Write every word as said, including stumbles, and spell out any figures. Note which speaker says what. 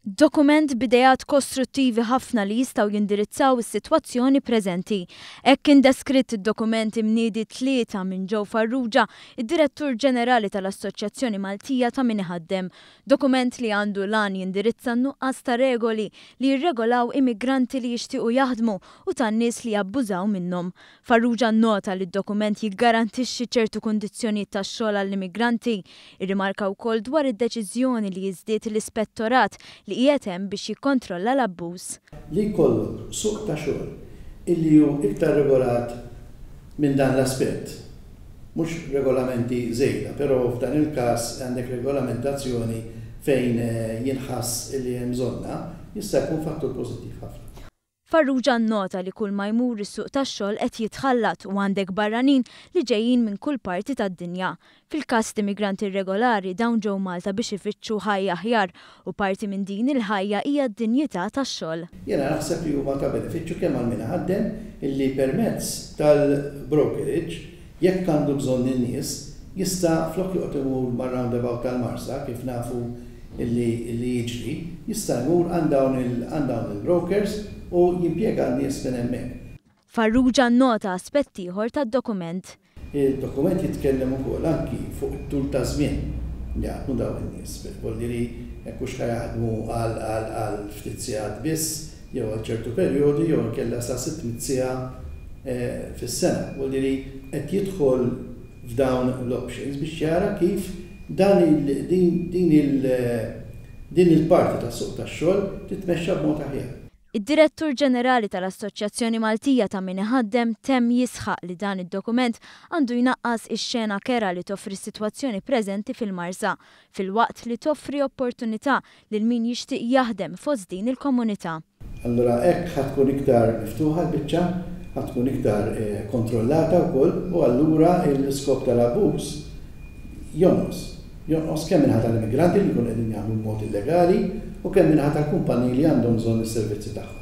Speaker 1: Dokument b'ideat kostruttivi ħafna li jistgħu jindirizzaw is-sitwazzjoni preżenti. Hekk kien deskritt id-dokument imniedi t-Tlieta minn Joe Farrugia, id-Direttur Ġenerali tal-Assoċjazzjoni Maltija ta' Min Iħaddem. Dokument li għandu l-għan jindirizza n-nuqqas ta' regoli li jirregolaw immigranti li jixtiequ jaħdmu u tan-nies li jabbużaw minnhom. Farrugia nnota li d-dokument jiggarantixxi ċertu kundizzjonijiet tax-xogħol għall-immigranti. Irrimarka wkoll dwar id-deċiżjoni li jiżdied l-ispettorat li qiegħed hemm biex jikkontrolla l-abbuż.
Speaker 2: Li jkollok suq ta' xogħol illi hu iktar regolat minn dan l-aspett, mhux regolamenti żejda, però f'dan il-każ għandek regolamentazzjoni fejn jinħass illi hemm bżonnha, jista' jkun fattur pożittiv ħafna.
Speaker 1: Farrugia nnota li kull ma jmur is-suq tax-xogħol qed jitħallat u għandek barranin li ġejjin minn kull parti tad-dinja. Fil-każ t'immigranti irregolari, dawn ġew Malta biex ifittxu ħajja aħjar u parti minn din il-ħajja hija d-dinjità tax-xogħol.
Speaker 2: Jiena naħseb li huma ta' benefiċċju kemm għal min iħaddem, illi permezz tal-brokerage, jekk għandu bżonn in-nies, jista' flok joqgħod imur mar-roundabout tal-Marsa, kif nafu illi li jiġri, jista' jmur għand dawn il-brokers u jimpjega n-nies minn hemmhekk.
Speaker 1: Farrugia nnota aspett ieħor tad-dokument.
Speaker 2: Il-dokument jitkellem ukoll anki fuq it-tul ta' żmien li jaħdmu dawn in-nies. Vuol dire jekk hux jaħdmu għal ftit sigħat biss jew għal ċertu perjodi jew inkella sa sitt mitt siegħa fis-sena. Vuol dire qed jidħol f'dawn l-options biex jara kif dan din, din il, din il-parti tas-suq tax-xogħol titmexxa b'mod aħjar.
Speaker 1: Id-Direttur Ġenerali tal-Assoċjazzjoni Maltija ta' Min Iħaddem temm jisħaq li dan id-dokument għandu jnaqqas ix-xena kerha li toffri s-sitwazzjoni preżenti fil-Marsa, filwaqt li toffri opportunità lil min jixtieq jaħdem fost din il-komunità.
Speaker 2: Allura hekk ħa tkun iktar miftuħa l-biċċa, ħa tkun iktar kontrollata wkoll, u allura l-iskop tal-abbuż jonqos. Jonqos kemm minħabba tal-immigranti li jkunu qegħdin jaħdmu b'mod illegali u kemm minħabba tal-kumpaniji li għandhom bżonn is-servizzi tagħhom.